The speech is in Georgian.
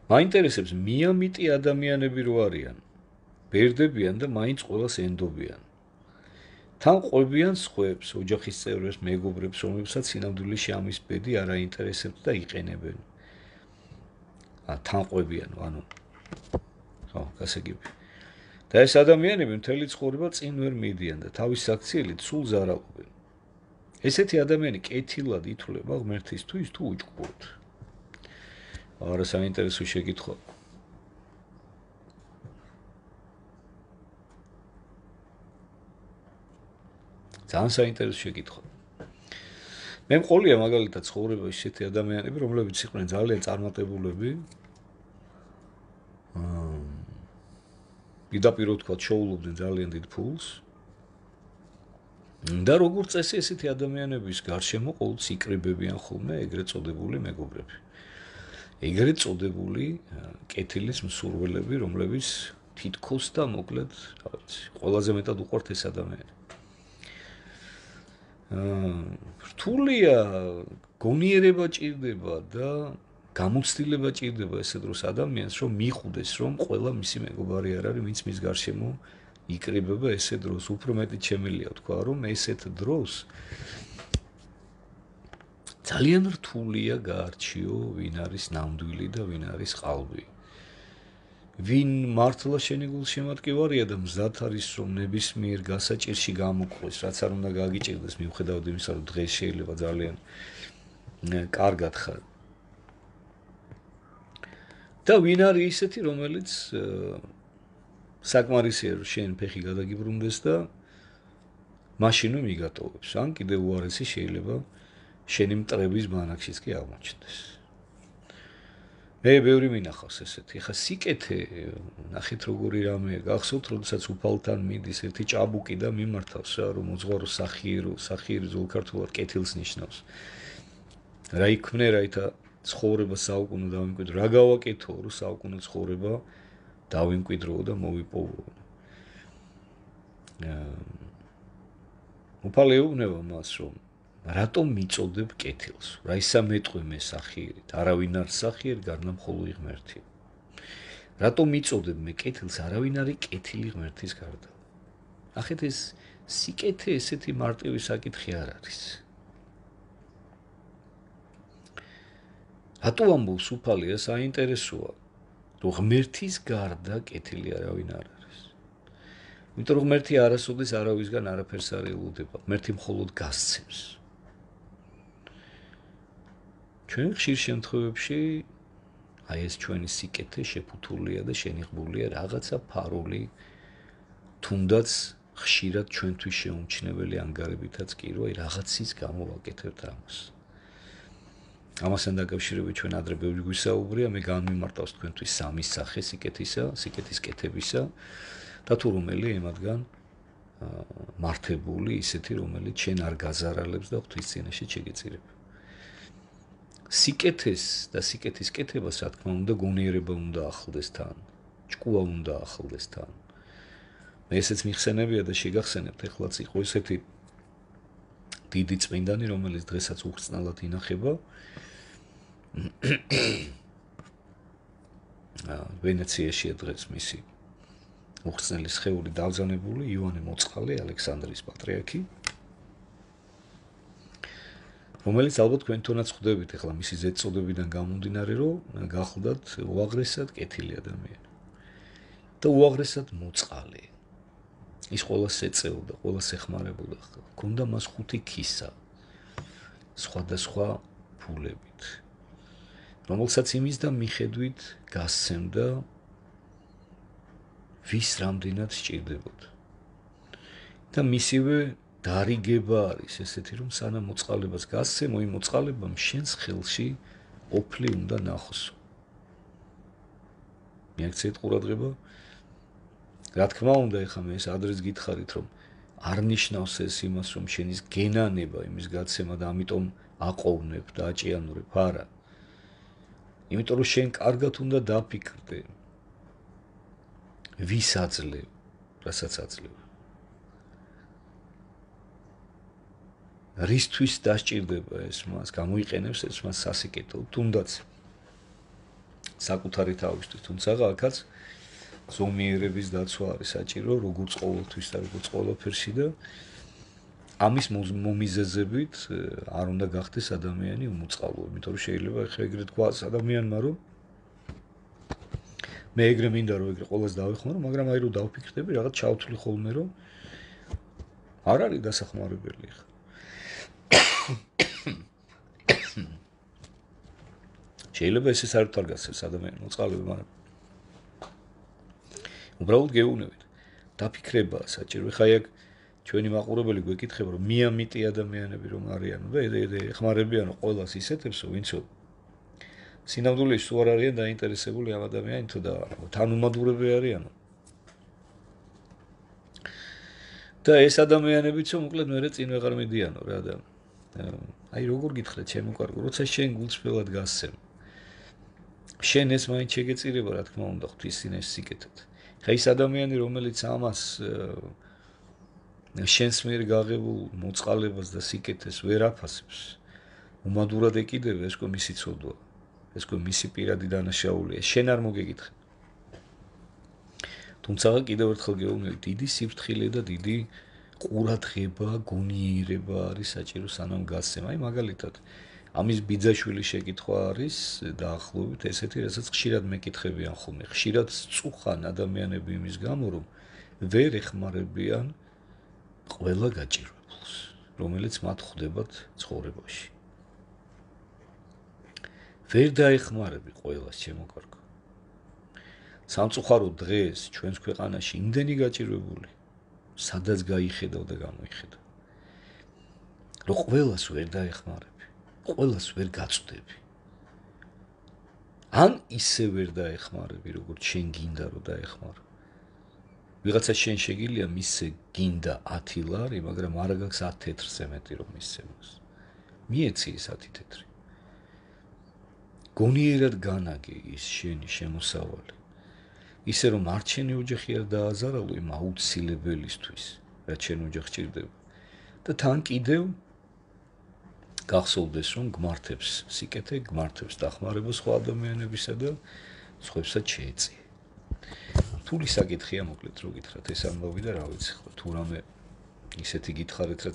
მაინტერესებს მიამიტი ადამიანები რო არიან. ბერდებიან და მაინც ყველას ენდობიან. თან ყვებიან სხვებს, ოჯახის წევრებს, მეგობრებს, რომლებსაც სინამდვილეში ამის ბედი არ აინტერესებთ და იყენებენ. თან ყვებიან, ანუ ხო, გასაგები. და ეს ადამიანები მთელი ცხოვრება წინ ვერ მიდიან და თავის საქციელით სულ ზარალობენ. ესეთი ადამიანი კეთილად ითვლება ღმერთისთვის თუ უჭკუოდ? არა საინტერესო შეკითხვა. ძალიან საინტერესო შეკითხვა. მე მყოლია მაგალითად ცხოვრებაში ისეთი ადამიანები, რომლებიც იყვნენ ძალიან წარმატებულები. პირდაპირ თქვა, შოულობდნენ ძალიან დიდ ფულს. და როგორც წესი ესეთი ადამიანების გარშემო ყოველთვის იკრიბებიან ხოლმე ეგრეთ წოდებული მეგობრები. ეგრეთ წოდებული კეთილის მსურველები, რომლებიც თითქოს და მოკლედ, ყველაზე მეტად უყვართ ეს ადამიანი. რთულია გონიერება ჭირდება და გამოცდილება ჭირდება ესე დროს ადამიანს, რომ მიხვდეს, რომ ყველა მისი მეგობარი არ არის, ვინც მის გარშემო იკრიბება ესე დროს. უფრო მეტი შემიძლია თქვა, რომ ესეთ დროს ძალიან რთულია გაარჩიო, ვინ არის ნამდვილი და ვინ არის ყალბი. ვინ მართლა შენი გულშემატკივარია და მზად არის, რომ ნებისმიერ გასაჭირში გამოკლეს, რაც არ უნდა გაგიჭირდეს, მიუხედავად იმისა, რომ დღეს შეიძლება ძალიან კარგად ხარ. და ვინ არის ისეთი, რომელიც საკმარისია, რომ შენ ფეხი გადაგიბრუნდეს და მაშინ მიგატოვებს. ან კიდევ უარესი შეიძლება შენი მტრების ბანაკშიც კი აღმოჩნდეს. მე ბევრი მინახავს ესეთი. ხა სიკეთე, ნახეთ როგორი რამეა. გახსოვთ, როდესაც უფალთან მიდის ერთი ჭაბუკი და მიმართავს რა, რომ მოძღვარო სახიერი ზოლქართულად კეთილს ნიშნავს. რა იქმნე, რაითა ცხოვრება საუკუნო დავიმკვიდრო. რა გავაკეთო, რომ საუკუნო ცხოვრება დავიმკვიდრო და მოვიპოვო. უფალი ეუბნება მას, რომ რატომ მიწოდებ კეთილს? რა ისა მეტყვი მე სახიერით? არავინ არ სახიერი, გარდა მხოლოდ ღმერთი. რატომ მიწოდებ მე კეთილს? არავინ არის კეთილი ღმერთის გარდა. ნახეთ, ეს სიკეთე ესეთი მარტივი საკითხი არ არის. რატო ამბობს უფალი, ეს საინტერესოა, რომ ღმერთის გარდა კეთილი არავინ არ არის. იმიტომ რომ ღმერთი არასოდეს არავისგან არაფერს არ ელოდება. ღმერთი მხოლოდ გასცემს. ჩვენ ხშირ შემთხვევებში აი ეს ჩვენი სიკეთე შეფუთულია და შენიღბულია რაღაცა ფარული, თუნდაც ხშირად ჩვენთვის შეუმჩნეველი ანგარებითაც კი, რომ აი რაღაცის გამო ვაკეთებთ ამას. ამასთან დაკავშირებით ჩვენ ადრე ბევრი გვისაუბრია, მე განმიმარტავს თქვენთვის სამი სახე სიკეთისა, სიკეთის კეთებისა და თუ რომელი ემადგან მართებული, ისეთი, რომელიც შენ არ გაზარალებს და ღვთის წინაშე შეგეწირებ. სიკეთეს და სიკეთის კეთებას, რა თქმა უნდა, გონიერება უნდა ახლდეს თან, ჭკუა უნდა ახლდეს თან. მე ესეც მიხსენებია და შეგახსენებთ, ეხლაც იყო ესეთი დიდი წმინდანი, რომელიც დღესაც უხრწნელად ინახება. ვენეციაშია დღეს მისი უხრწნელი სხეული დავზანებული, იოანე მოწყალე, ალექსანდრიის პატრიარქი, რომელიც ალბათ თქვენთანაც ხვდებით, ეხლა მისი ზედწოდებიდან გამომდინარე, რომ გახლდათ უაღრესად კეთილი ადამიანი და უაღრესად მოწყალე. ის ყველას ეწეოდა, ყველას ეხმარებოდა. ჰქონდა მას 5 ქისა სხვადასხვა ფულებით, რომელსაც იმის და მიხედვით გასცემდა ვის რამდენად სჭირდებოდა. და მისივე დარიგება არის ესეთი, რომ სანამ მოწყალებას გასცემო, იმ მოწყალებამ შენს ხელში ოფლი უნდა ნახოსო. მიაქციეთ ყურადღება. რა თქმა უნდა, ეხლა მე ეს ადრეს გითხარით, რომ არ ნიშნავს ეს იმას, რომ შენის გენანება იმის გაცემა და ამიტომ აყოვნებ და აჭიანურებ, არა. იმიტომ რომ შენ კარგად უნდა დაფიქრდე, ვის აძლევ, რასაც აძლევ. რისთვის დასჭირდება ეს მას, გამოიყენებს ეს მას სასიკეთოდ, თუნდაც საკუთარი თავისთვის, თუმცა აქაც ზომიერების დაცვა არის საჭირო, როგორც ყოველთვის და როგორც ყველაფერში და ამის მომიზეზებით არ უნდა გახდეს ადამიანი უმოწყალო, იმიტომ რომ შეიძლება ახლა ეგრე თქვას ადამიანმა, რომ მე ეგრე მინდა რომ ეგრე ყოველს დავეხმარო, მაგრამ აი რომ დავფიქრდები, რაღაც ჩავთვლი ხოლმე, რომ არ არის დასახმარებელი ხა. შეიძლება ეს არ თარგასებს ადამიანს მოწყალები, მაგრამ უბრალოდ გეუბნებით. დაფიქრებაა საჭირო. ხა ეგ ჩვენი მაყურებელი გვეკითხება, რომ მიამიტი ადამიანები რომ არიანო და ეხმარებიანო ყოველას ისეთებსო, ვინცო სინამდვილეში თუ არ არიან დაინტერესებული ამ ადამიანით და თანუმადურები არიანო. და ეს ადამიანებიც მოკლედ მე წინ ვეღარ მიდიანო რა და აი როგორ გითხრა ჩემო კარგო, როცა შენ გულწრფელად გასცემ. შენ ეს მაინც შეგეწირება რა თქმა უნდა ღვთისინეს სიკეთეთ. ხა ის ადამიანი რომელიც ამას შენს მიერ გაღებულ მოწყალებას და სიკეთეს ვერ აფასებს, უმადურად ეკიდება, ეს ყო მისი ცოდვა, ეს ყო მისი პირადი დანაშაულია, შენ არ მოგეკითხე. თუმცა კიდევ ერთხელ გეუბნები, დიდი სიფრთხილე და დიდი ყურადღება, გონიერება არის საჭირო სანამ გასცემ. აი მაგალითად, ამის ბიძაშვილი შეკითხვა არის დაახლოებით ესეთი, რასაც ხშირად მეკითხებიან ხოლმე. ხშირად წუხან ადამიანები იმის გამო, რომ ვერ ეხმარებიან ყველა გაჭირვებულს, რომელიც მათ ხვდებათ ცხოვრებაში. ვერ დაეხმარები ყველას, ჩემო კარგო. სამწუხაროდ დღეს ჩვენს ქვეყანაში იმდენი გაჭირვებული, სადაც გაიხედავ და გამოიხედავ. რომ ყველას ვერ დაეხმარები, ყველას ვერ გაწვდები. ან ისე ვერ დაეხმარები, როგორც შენ გინდა რომ დაეხმარო. ვიღაცა შენ შეგიძლია მისცე გინდა 10 ლარი, მაგრამ არ გაქვს 10 თეთრზე მეტი რომ მისცემოს. მიეცი ის 10 თეთრი. გონიერად განაგე ის შენი შემოსავალი. ისე რომ არ შენი ოჯახი არ დააზარალო იმ აუცილებელისთვის, რაც შენ ოჯახს ჭირდება. და თან კიდევ გახსოვდეს რომ გმართებს სიკეთე, გმართებს დახმარება სხვა ადამიანებისა და სხვებსაც შეეწიე. თული საკითხია მოკლედ რო გითხრათ ეს ამბავი და რა ვიცი ხო თუ რამე ისეთი გითხარით რაც